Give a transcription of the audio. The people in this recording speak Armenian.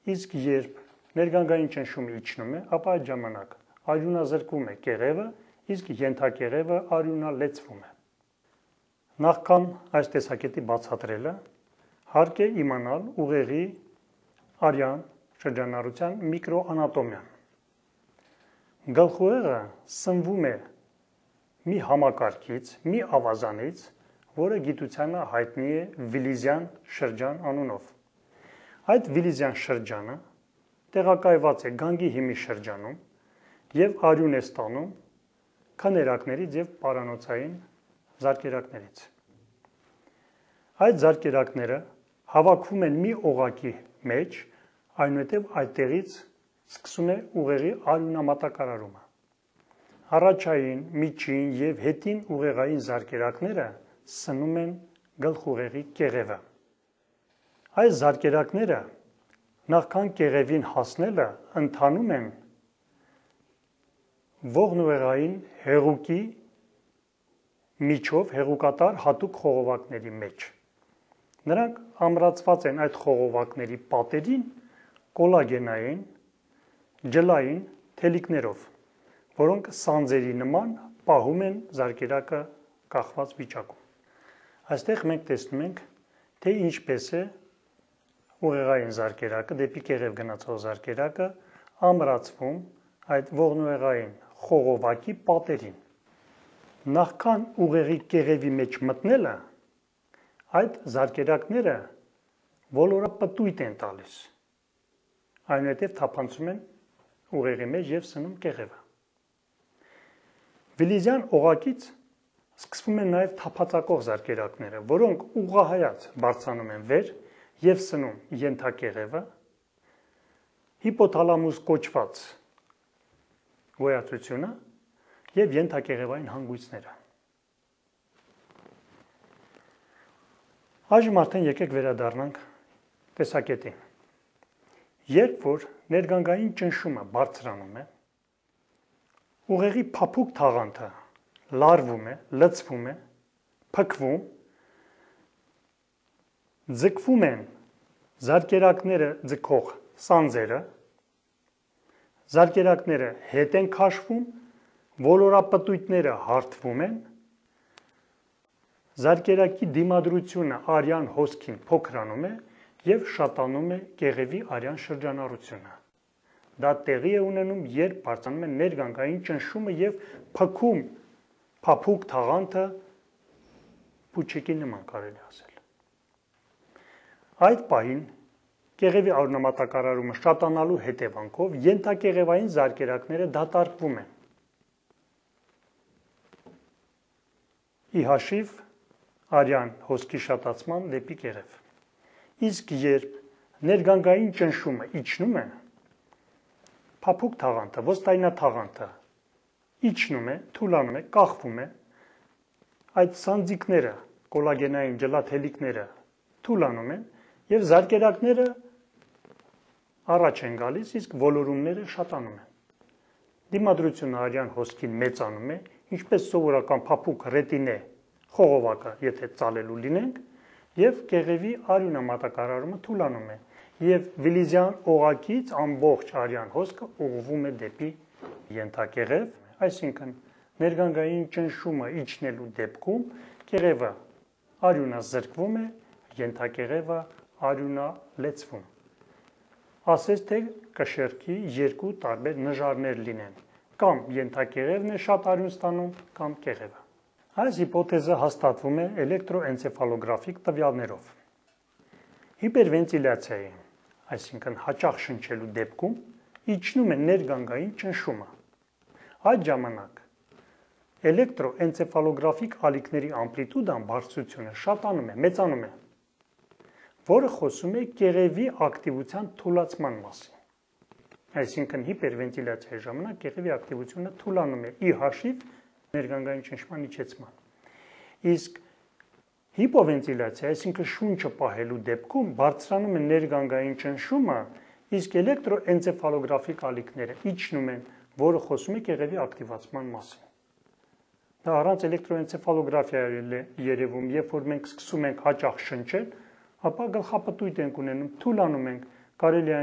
իսկ երբ ներգանգային ճնշումը իջնում է, ապա այդ ժամանակ արյունազրկվում է կեղևը, իսկ ենթակեղևը արյունալեցվում է։ Նախքան այս տեսակետի բացատրելը, հարկ է իմանալ ուղեղի արյան շրջանառության միկրոանատոմիան։ Գլխուղեղը սնվում է մի համակարգից, մի ավազանից, որը գիտությանը հայտնի է Վիլիզյան շրջան անունով։ Այդ Վիլիզյան շրջանը տեղակայված է գանգի հիմի շրջանում և արյուն է ստանում քներակներից և պարանոցային զարկերակներից։ Այդ զարկերակները հավաքվում են մի օղակի մեջ, այնուհետև այդտեղից սկսում է ուղեղի արյունամատակարարումը։ Առաջային, միջին և հետին ուղեղային զարկերակները սնում են գլխուղեղի կեղևը։ Այս զարկերակները նախքան կեղևին հասնելը ընթանում են ողնուղեղային հեղուկի միջով հեղուկատար հատուկ խողովակների մեջ։ Նրանք ամրացված են այդ խողովակների պատերին կոլագենային, ջլային թելիկներով, որոնք սանձերի նման պահում են զարկերակը կախված վիճակում։ Այստեղ մենք տեսնում ենք, թե ինչպես է ուղեղային զարկերակը, դեպի կեղև գնացող զարկերակը ամրացվում այդ ողնուղեղային խողովակի պատերին։ Նախքան ուղեղի կեղևի մեջ մտնելը, այդ զարկերակները ոլորապտույտ են տալիս, այնուհետև թափանցում են ուղեղի մեջ և սնում կեղևը։ Վիլիզյան օղակից սկսվում են նաև թափածակող զարկերակները, որոնք ուղղահայաց բարձրանում են վեր և սնում ենթակեղևը, հիպոթալամուս կոչված գոյացությունը և ենթակեղևային հանգույցները։ Այժմ արդեն եկեք վերադառնանք տեսակետին։ Երբ որ ներգանգային ճնշումը բարձրանում է, ուղեղի փափուկ թաղանթը լարվում է, լցվում է, փքվում, ձգվում են զարկերակները ձգող սանձերը, զարկերակները հետ են քաշվում, ոլորապտույտները հարթվում են, զարկերակի դիմադրությունը արյան հոսքին փոքրանում է և շատանում է կեղևի արյան շրջանառությունը։ Դա տեղի է ունենում, երբ բարձրանում է ներգանգային ճնշումը և փքում փափուկ թաղանթը փուչիկի նման կարելի ասել։ Այդ պահին կեղևի արյունամատակարարումը շատանալու հետևանքով ենթակեղևային զարկերակները դատարկվում են։ Ի հաշիվ արյան հոսքի շատացման դեպի կեղև։ Իսկ երբ ներգանգային ճնշումը իջնում է, փափուկ թաղանթը, ոսկայնաթաղանթը իջնում է, թուլանում է, կախվում է, այդ սանձիկները, կոլագենային ջլաթելիկները թուլանում են և զարկերակները առաջ են գալիս, իսկ ոլորումները շատանում են։ Դիմադրությունը արյան հոսքին մեծանում է, ինչպես սովորական փափուկ ռետինե խողովակը, եթե ծալելու լինենք, և կեղևի արյունամատակարարումը թուլանում է, և Վիլիզյան օղակից ամբողջ արյան հոսքը ուղղվում է դեպի ենթակեղև, այսինքն ներգանգային ճնշումը իջնելու դեպքում կեղևը արյունազրկվում է, ենթակեղևը արյունալեցվում։ Ասես թե կշեռքի երկու տարբեր նժարներ լինեն, կամ ենթակեղևն է շատ արյուն ստանում, կամ կեղևը։ Այս հիպոթեզը հաստատվում է էլեկտրոէնցեֆալոգրաֆիկ տվյալներով։ Հիպերվենտիլյացիայի, այսինքն հաճախ շնչելու դեպքում իջնում է ներգանգային ճնշումը։ Այդ ժամանակ էլեկտրոէնցեֆալոգրաֆիկ ալիքների ամպլիտուդան բարձրությունը շատանում է, մեծանում է, որը խոսում է կեղևի ակտիվության թուլացման մասին։ Այսինքն հիպերվենտիլյացիայի ժամանակ կեղևի ակտիվությունը թուլանում է ի հաշիվ ներգանգային ճնշման իջեցման։ Իսկ հիպովենտիլյացիա, այսինքն շունչը պահելու դեպքում բարձրանում է ներգանգային ճնշումը, իսկ էլեկտրոէնցեֆալոգրաֆիկ ալիքները իջնում են, որը խոսում է կեղևի ակտիվացման մասին։ Դա առանց էլեկտրոէնցեֆալոգրաֆիայի է երևում, երբ որ մենք սկսում ենք հաճախ շնչել, ապա գլխապտույտ ենք ունենում, թուլանում ենք, կարելի է